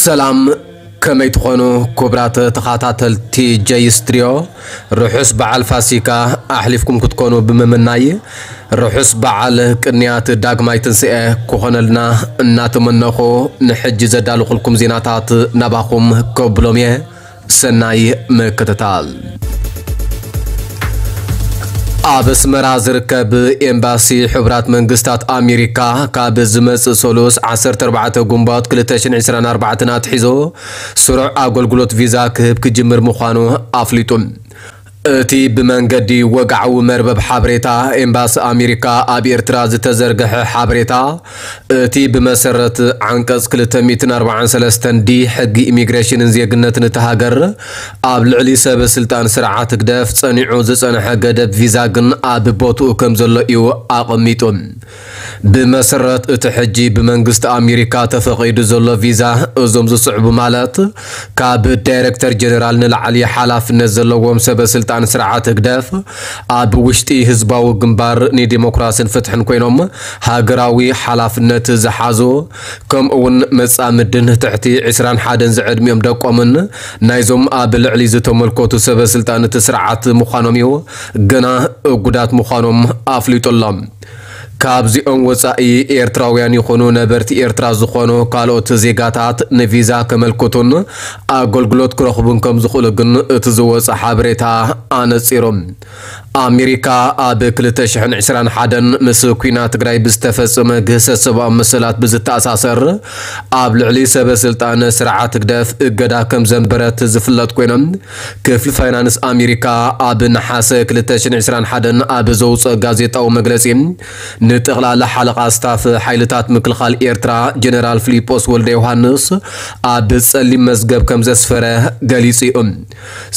ሰላም፣ ከመይ ትኾኑ ክቡራት ተኸታተልቲ ጀይ ስትሪዮ? ርሑስ በዓል ፋሲካ ኣሕሊፍኩም ክትኮኑ ብምምናይ፣ ርሑስ በዓል ቅንያት ዳግማይ ትንስኤ ክኾነልና እናተመነኹ፣ ንሕጂ ዘዳለኹልኩም ዜናታት ናባኹም ከብሎም እየ። ሰናይ ምክትታል። ኣብ ኣስመራ ዝርከብ ኤምባሲ ሕቡራት መንግስታት ኣሜሪካ፣ ካብ ዝመጽእ ሰሉስ ዓሰርተ ኣርባዕተ ግንቦት ክልተ ሽሕን ዕስራን ኣርባዕተን ኣትሒዙ፣ ስሩዕ ኣገልግሎት ቪዛ ክህብ ክጅምር ምዃኑ ኣፍሊጡ። እቲ ብመንገዲ ወግዓዊ መርበብ ሓበሬታ ኤምባሲ ኣሜሪካ ኣብ ኤርትራ ዝተዘርግሐ ሓበሬታ፣ እቲ ብመሰረት ዓንቀጽ ክልተ ሚእትን ኣርባዓን ሰለስተን ዲ ሕጊ ኢሚግሬሽንን ዜግነትን እታ ሃገር፣ ኣብ ልዕሊ ሰበ ስልጣን ስርዓት ህግደፍ ጸኒዑ ዝጸንሐ ገደብ ቪዛ ግን ኣብ ቦትኡ ከም ዘሎ እዩ ኣቐሚጡ። ብመሰረት እቲ ሕጂ ብመንግስቲ ኣሜሪካ ተፈቒዱ ዘሎ ቪዛ፣ እዞም ዝስዕቡ ማለት፣ ካብ ዳይሬክተር ጀነራል ንላዕሊ ሓላፍነት ዘለዎም ሰበ ስልጣን ስርዓት ህግደፍ፣ ኣብ ውሽጢ ህዝባዊ ግንባር ንዲሞክራስን ፍትሕን ኮይኖም ሃገራዊ ሓላፍነት ዝሓዙ፣ ከምኡ እውን መጻምድን ትሕቲ ዕስራን ሓደን ዝዕድሚኦም ደቆምን ናይዞም ኣብ ልዕሊ ዝተመልከቱ ሰበ ስልጣን እቲ ስርዓት ምዃኖም እዩ ገና እጉዳት ምዃኖም ኣፍሊጡ ኣሎ። ካብዚኦም ወጻኢ ኤርትራውያን ይኹኑ ነበርቲ ኤርትራ ዝኾኑ ካልኦት ዜጋታት ንቪዛ ከመልክቱን ኣገልግሎት ክረኽቡን ከም ዝኽእሉ ግን እቲ ዝወጸ ሓበሬታ ኣነጺሩ። ኣሜሪካ ኣብ ክልተ ሽሕን ዕስራን ሓደን ምስ ኲናት ትግራይ ብዝተፈጸመ ግህሰት ሰብኣዊ መሰላት ብዝተኣሳሰር ኣብ ልዕሊ ሰበ ስልጣን ስርዓት ህግደፍ እገዳ ከም ዘንበረት ዝፍለጥ ኮይኖም፣ ክፍሊ ፋይናንስ ኣሜሪካ ኣብ ነሓሰ ክልተ ሽሕን ዕስራን ሓደን ኣብ ዘውፅኦ ጋዜጣዊ መግለፂ፣ ንጠቕላላ ሓለቓ ስታፍ ሓይልታት ምክልኻል ኤርትራ ጀነራል ፊሊጶስ ወልደ ዮሃንስ ኣብ ጸሊም መዝገብ ከም ዘስፈረ ገሊጹ እዩ።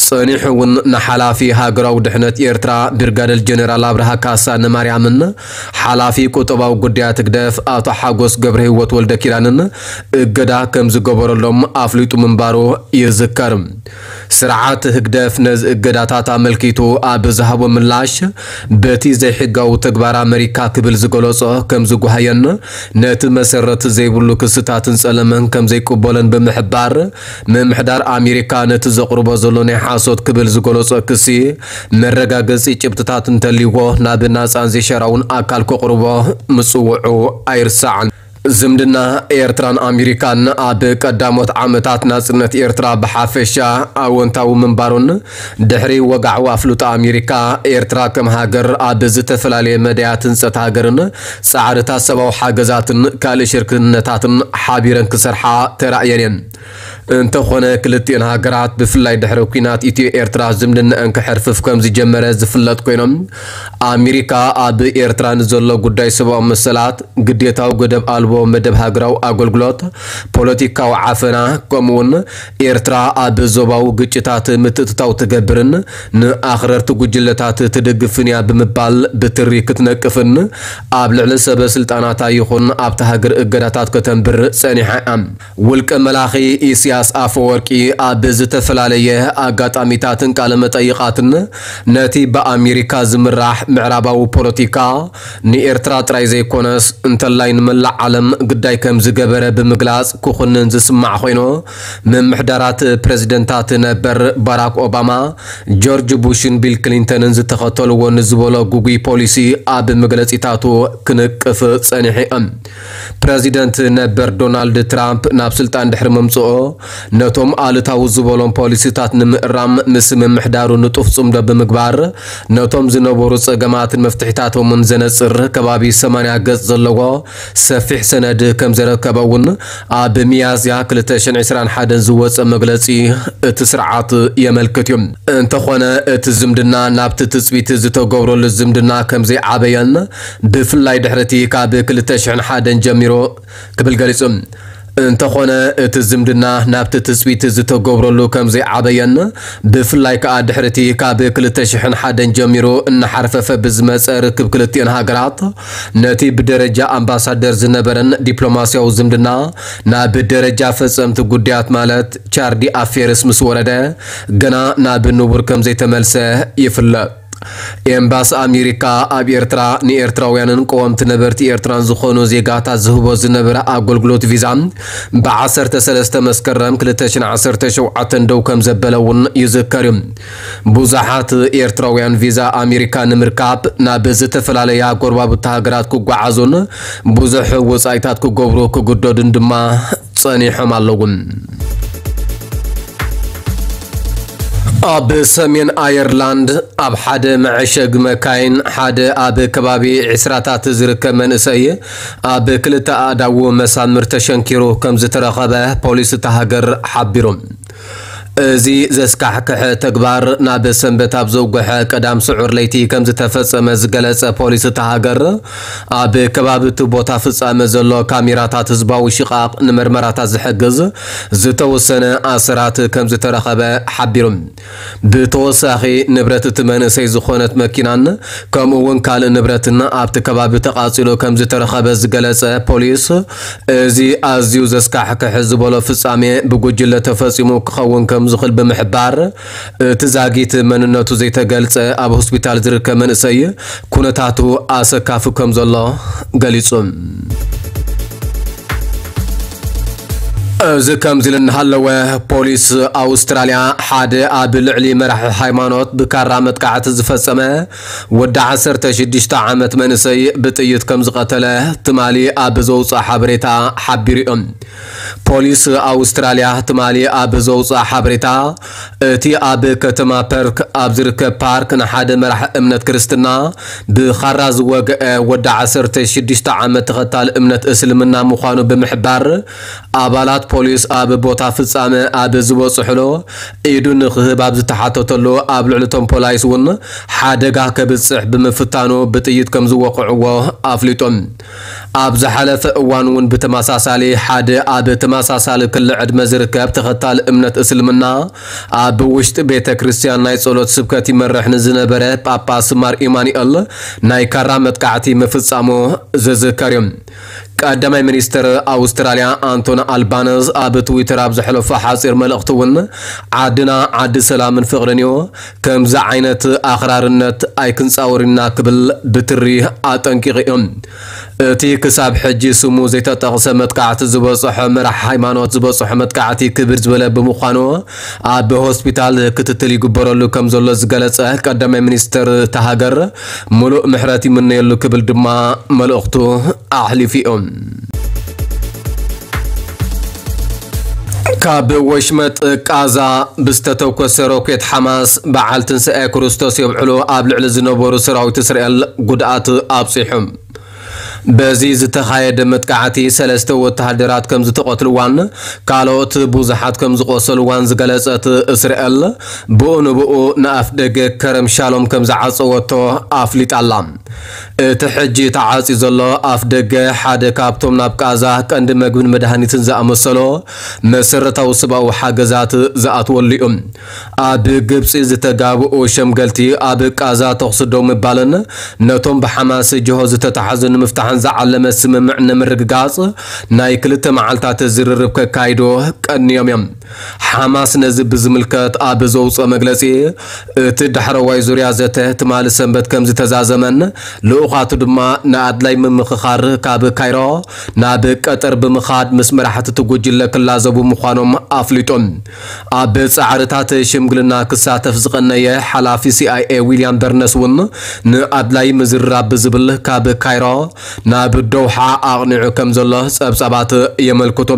ጸኒሑ እውን ንሓላፊ ሃገራዊ ድሕነት ኤርትራ ብርጋደል ጀነራል ኣብርሃ ካሳ ንማርያምን ሓላፊ ቁጠባዊ ጉዳያት ህግደፍ ኣቶ ሓጎስ ገብረ ህይወት ወልደ ኪዳንን እገዳ ከም ዝገበረሎም ኣፍሊጡ ምንባሩ ይዝከር። ስርዓት ህግደፍ ነዚ እገዳታት ኣመልኪቱ ኣብ ዝሃቦ ምላሽ፣ በቲ ዘይሕጋዊ ተግባር ኣመሪካ ክብል ዝገለጾ ከም ዝጓሃየን ነቲ መሰረት ዘይብሉ ክስታትን ጸለመን ከም ዘይቅበሎን ብምሕባር፣ ምምሕዳር ኣሜሪካ ነቲ ዘቕርቦ ዘሎ ናይ ሓሶት ክብል ዝገለጾ ክሲ መረጋገጺ ጭብጥታት እንተልይዎ ናብ ናጻን ዘይሻራውን ኣካል ከቕርቦ ምጽውዑ ኣይርሳዕን። ዝምድና ኤርትራን ኣሜሪካን ኣብ ቀዳሞት ዓመታት ናጽነት ኤርትራ ብሓፈሻ ኣወንታዊ ምንባሩን ድሕሪ ወግዓዊ ኣፍልጦ ኣሜሪካ፣ ኤርትራ ከም ሃገር ኣብ ዝተፈላለየ መዳያት ህንጸት ሃገርን ጻዕርታት ሰብኣዊ ሓገዛትን ካልእ ሽርክነታትን ሓቢረን ክሰርሓ ተራእየን እየን። እንተኾነ ክልቲኤን ሃገራት ብፍላይ ድሕሪ ኲናት ኢትዮ ኤርትራ ዝምድናኣን ክሕርፍፍ ከም ዝጀመረ ዝፍለጥ ኮይኖም፣ ኣሜሪካ ኣብ ኤርትራ ንዘሎ ጉዳይ ሰብኣዊ መሰላት፣ ግዴታዊ ገደብ ኣልቦ መደብ ሃገራዊ ኣገልግሎት፣ ፖለቲካዊ ዓፈና፣ ከምኡውን ኤርትራ ኣብ ዞባዊ ግጭታት ምትእትታው ትገብርን ንኣኽረርቲ ጉጅለታት ትድግፍን እያ ብምባል ብትሪ ክትነቅፍን ኣብ ልዕሊ ሰበ ስልጣናታ ይኹን ኣብታ ሃገር እገዳታት ከተንብር ጸኒሓ እያ። ውልቀ መላኺ ኢሳያስ ኣፈወርቂ ኣብ ዝተፈላለየ ኣጋጣሚታትን ቃለ መጠይቓትን ነቲ ብኣሜሪካ ዝምራሕ ምዕራባዊ ፖለቲካ ንኤርትራ ጥራይ ዘይኮነስ እንተላይ ንመላእ ዓለም ግዳይ ከም ዝገበረ ብምግላጽ ክኹንን ዝስማዕ ኮይኑ፣ ምምሕዳራት ፕረዚደንታት ነበር ባራክ ኦባማ፣ ጆርጅ ቡሽን ቢል ክሊንተንን ዝተኸተልዎ ንዝበሎ ግጉይ ፖሊሲ ኣብ መግለጺታቱ ክንቅፍ ጸኒሑ እዩ። ፕረዚደንት ነበር ዶናልድ ትራምፕ ናብ ስልጣን ድሕሪ ምምጽኦ፣ ነቶም ኣሉታዊ ዝበሎም ፖሊሲታት ንምእራም ምስ ምምሕዳሩ ንጡፍ ጽምዶ ብምግባር፣ ነቶም ዝነበሩ ጸገማትን መፍትሒታቶምን ዘነጽር ከባቢ ሰማንያ ገጽ ዘለዎ ሰፊሕ ሰነድ ከም ዘረከበ እውን ኣብ ሚያዝያ ክልተ ሽሕን ዕስራን ሓደን ዝወጸ መግለጺ እቲ ስርዓት የመልክት እዩ። እንተኾነ፣ እቲ ዝምድና ናብቲ ትጽቢት ዝተገብረሉ ዝምድና ከም ዘይዓበየን፣ ብፍላይ ድሕሪ እቲ ካብ ክልተ ሽሕን ሓደን ጀሚሩ ክብል ገሊጹ። እንተኾነ፣ እቲ ዝምድና ናብቲ ትጽቢት ዝተገብረሉ ከም ዘይዓበየን፣ ብፍላይ ከኣ ድሕሪ እቲ ካብ ክልተ ሽሕን ሓደን ጀሚሩ እናሓርፈፈ ብዝመጸ ርክብ ክልቲኤን ሃገራት፣ ነቲ ብደረጃ ኣምባሳደር ዝነበረን ዲፕሎማስያዊ ዝምድና ናብ ደረጃ ፈጸምቲ ጉዳያት ማለት ቻርዲ ኣፌርስ ምስ ወረደ፣ ገና ናብ ንቡር ከም ዘይተመልሰ ይፍለጥ። ኤምባሲ ኣሜሪካ ኣብ ኤርትራ ንኤርትራውያንን ቀወምቲ ነበርቲ ኤርትራን ዝኾኑ ዜጋታት ዝህቦ ዝነበረ ኣገልግሎት ቪዛ ብ ዓሰርተ ሰለስተ መስከረም ክልተ ሽሕን ዓሰርተ ሸውዓተን ደው ከም ዘበለ እውን ይዝከር እዩ። ብዙሓት ኤርትራውያን ቪዛ ኣሜሪካ ንምርካብ ናብ ዝተፈላለያ ጎረባብቲ ሃገራት ክጓዓዙን ብዙሕ ወጻኢታት ክገብሩ ክግደዱን ድማ ጸኒሖም ኣለዉ። ኣብ ሰሜን ኣየርላንድ ኣብ ሓደ መዐሸጊ መካይን ሓደ ኣብ ከባቢ ዕስራታት ዝርከብ መንእሰይ ኣብ ክልተ ኣእዳዉ መሳምር ተሸንኪሩ ከም ዝተረኸበ ፖሊስ እታ ሃገር ሓቢሩ። እዚ ዘስካሕክሐ ተግባር ናብ ሰንበት ኣብ ዘውግሐ ቀዳም ስዑር ለይቲ ከም ዝተፈጸመ ዝገለጸ ፖሊስ እታ ሃገር፣ ኣብ ከባቢ እቲ ቦታ ፍጻመ ዘሎ ካሜራታት ህዝባዊ ሽቓቕ ንመርመራታት ዝሕግዝ ዝተወሰነ ኣሰራት ከም ዝተረኸበ ሓቢሩ። ብተወሳኺ፣ ንብረት እቲ መንእሰይ ዝኾነት መኪናን ከምኡ እውን ካልእ ንብረትን ኣብቲ ከባቢ ተቓጺሉ ከም ዝተረኸበ ዝገለጸ ፖሊስ፣ እዚ ኣዝዩ ዘስካሕክሕ ዝበሎ ፍጻሜ ብጉጅለ ተፈጺሙ ክኸውን ከም ዝኽእል ብምሕባር፣ እቲ ዛጊት መንነቱ ዘይተገልጸ ኣብ ሆስፒታል ዝርከብ መንእሰይ ኩነታቱ ኣሰካፊ ከም ዘሎ ገሊጹ። እዚ ከምዚ ኢሉ እናሃለወ፣ ፖሊስ ኣውስትራልያ ሓደ ኣብ ልዕሊ መራሒ ሃይማኖት ብካራ መጥቃዕቲ ዝፈጸመ ወዲ ዓሰርተ ሽዱሽተ ዓመት መንእሰይ ብጥይት ከም ዝቐተለ ትማሊ ኣብ ዘውፅኦ ሓበሬታ ሓቢሩ እዩ። ፖሊስ ኣውስትራልያ ትማሊ ኣብ ዘውፅኦ ሓበሬታ፣ እቲ ኣብ ከተማ ፐርክ ኣብ ዝርከብ ፓርክ ንሓደ መራሒ እምነት ክርስትና ብኻራ ዝወግአ ወዲ ዓሰርተ ሽዱሽተ ዓመት ተኸታሊ እምነት እስልምና ምዃኑ ብምሕባር፣ ኣባላት ፖሊስ ኣብ ቦታ ፍጻመ ኣብ ዝበጽሕሉ ኢዱ ንኽህብ ኣብ ዝተሓተተሉ፣ ኣብ ልዕሊ እቶም ፖላይስ እውን ሓደጋ ከብጽሕ ብምፍታኑ ብጥይት ከም ዝወቕዕዎ ኣፍሊጡ። ኣብ ዝሓለፈ እዋን እውን ብተመሳሳሊ ሓደ ኣብ ተመሳሳሊ ክሊ ዕድመ ዝርከብ ተኸታሊ እምነት እስልምና ኣብ ውሽጢ ቤተ ክርስቲያን ናይ ጸሎት ስብከት ይመርሕ ንዝነበረ ጳጳስ ማር ኢማኑኤል ናይ ካራ መጥቃዕቲ ምፍጻሙ ዝዝከር እዩ። ቀዳማይ ሚኒስትር ኣውስትራልያ ኣንቶኒ ኣልባነዝ ኣብ ትዊተር ኣብ ዘሕለፎ ሓጺር መልእኽቲ እውን፣ ዓድና ዓዲ ሰላምን ፍቕርን እዩ፣ ከምዚ ዓይነት ኣኽራርነት ኣይክንጻወር ኢና ክብል ብትሪ ኣጠንቂቑ እዩ። እቲ ክሳብ ሕጂ ስሙ ዘይተጠቕሰ መጥቃዕቲ ዝበጽሖ መራሕ ሃይማኖት ዝበጽሖ መጥቃዕቲ ክብድ ዝበለ ብምዃኑ ኣብ ሆስፒታል ክትትል ይግበረሉ ከም ዘሎ ዝገለጸ ቀዳማይ ሚኒስትር እታ ሃገር፣ ምሉእ ምሕረት ይምነየሉ ክብል ድማ መልእኽቱ ኣሕሊፉ እዩ። ካብ ወሽመጥ ቃዛ ብዝተተኮሰ ሮኬት ሓማስ በዓል ትንሳኤ ክርስቶስ የብዕሉ ኣብ ልዕሊ ዝነበሩ ሰራዊት እስራኤል ጉድኣት ኣብፂሑ። በዚ ዝተኻየደ መጥቃዕቲ ሰለስተ ወተሃደራት ከም ዝተቐትልዋን ካልኦት ብዙሓት ከም ዝቆሰልዋን ዝገለጸት እስራኤል፣ ብኡ ንብኡ ንኣፍ ደገ ከረም ሻሎም ከም ዝዓጸወቶ ኣፍሊጣ ኣላ። እቲ ሕጂ ተዓጽዩ ዘሎ ኣፍ ደገ ሓደ ካብቶም ናብ ቃዛ ቀንዲ መግብን መድሃኒትን ዝኣመሰሎ መሰረታዊ ሰብኣዊ ሓገዛት ዝኣትወሉ እዩ። ኣብ ግብጺ ዝተጋብኡ ሸምገልቲ ኣብ ቃዛ ተኹሲ ደው ምባልን ነቶም ብሓማስ ጅሆ ዝተታሕዙ ንምፍታሕን ዝዓለመ ስምምዕ ንምርግጋጽ ናይ ክልተ መዓልታት ዝርርብ ከካይዱ ቀንዮም እዮም። ሓማስ ነዚ ብዝምልከት ኣብ ዘውፅኦ መግለፂ፣ እቲ ዳሕረዋይ ዙርያ ዘተ ትማሊ ሰንበት ከም ዝተዛዘመን ልኡኻቱ ድማ ንኣድላይ ምምኽኻር ካብ ካይሮ ናብ ቀጠር ብምኻድ ምስ መራሕቲ እቲ ጉጅለ ክላዘቡ ምዃኖም ኣፍሊጡ። ኣብ ጻዕርታት ሽምግልና ክሳተፍ ዝቐነየ ሓላፊ ሲ ኣይ ኤ ዊልያም በርነስ እውን ንኣድላይ ምዝርራብ ብዝብል ካብ ካይሮ ናብ ዶውሓ ኣቕኒዑ ከም ዘሎ ጸብጻባት የመልክቱ።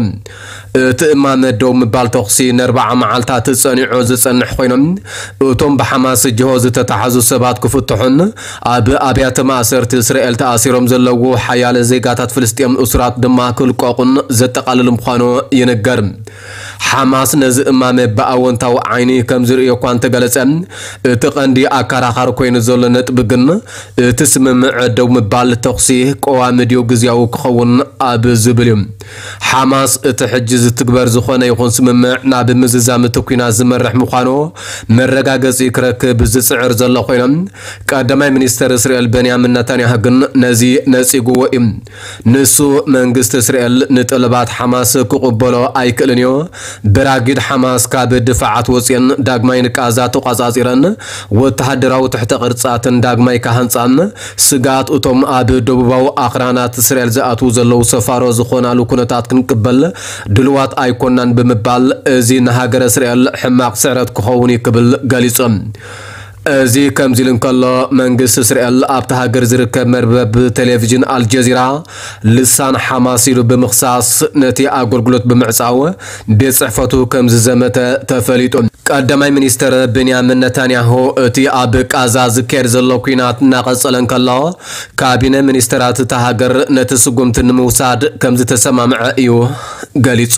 እቲ እማመ ደው ምባል ተኹሲ ንኣርብዓ መዓልታት ጸኒዑ ዝጸንሕ ኮይኑ፣ እቶም ብሓማስ ጅሆ ዝተታሕዙ ሰባት ክፍትሑን ኣብ ኣብያተ ማእሰርቲ እስራኤል ተኣሲሮም ዘለዉ ሓያለ ዜጋታት ፍልስጤም እሱራት ድማ ክልቀቑን ዘጠቓልል ምዃኑ ይንገር። ሓማስ ነዚ እማመ ብኣወንታዊ ዓይኒ ከም ዝርእዮ እኳ እንተገለጸ፣ እቲ ቀንዲ ኣከራኻሪ ኮይኑ ዘሎ ነጥቢ ግን እቲ ስምምዕ ደው ምባል ተኹሲ ቀዋሚ ድዩ ግዝያዊ ክኸውን ኣብ ዝብል እዩ። ሓማስ እቲ ሕጂ ዝትግበር ዝኾነ ይኹን ስምምዕ ናብ ምዝዛም እቲ ኲናት ዝመርሕ ምዃኑ መረጋገጺ ክረክብ ዝጽዕር ዘሎ ኮይኖም፣ ቀዳማይ ሚኒስተር እስራኤል በንያሚን ነታንያሁ ግን ነዚ ነጺግዎ እዩ። ንሱ መንግስቲ እስራኤል ንጠለባት ሓማስ ክቕበሎ ኣይክእልን እዩ፣ ብራጊድ ሓማስ ካብ ድፋዓት ወፅየን ዳግማይ ንቃዛ ተቋፃፂረን ወተሃደራዊ ትሕተ ቅርፃትን ዳግማይ ካሃንፃን ስጋት እቶም ኣብ ደቡባዊ ኣኽራናት እስራኤል ዝኣትዉ ዘለዉ ሰፋሮ ዝኾናሉ ኩነታት ክንቅበል ድልዋት ኣይኮናን ብምባል፣ እዚ ንሃገረ እስራኤል ሕማቕ ስዕረት ክኸውን እዩ ክብል ገሊጹ። እዚ ከምዚ ኢሉ እንከሎ፣ መንግስቲ እስራኤል ኣብታ ሃገር ዝርከብ መርበብ ቴሌቪዥን ኣልጀዚራ ልሳን ሓማስ ኢሉ ብምኽሳስ፣ ነቲ ኣገልግሎት ብምዕጻው ቤት ጽሕፈቱ ከም ዝዘመተ ተፈሊጡ። ቀዳማይ ሚኒስተር ቤንያሚን ነታንያሁ፣ እቲ ኣብ ቃዛ ዝካየድ ዘሎ ኲናት እናቐጸለ እንከሎ፣ ካቢነ ሚኒስተራት እታ ሃገር ነቲ ስጉምቲ ንምውሳድ ከም ዝተሰማምዐ እዩ ገሊጹ።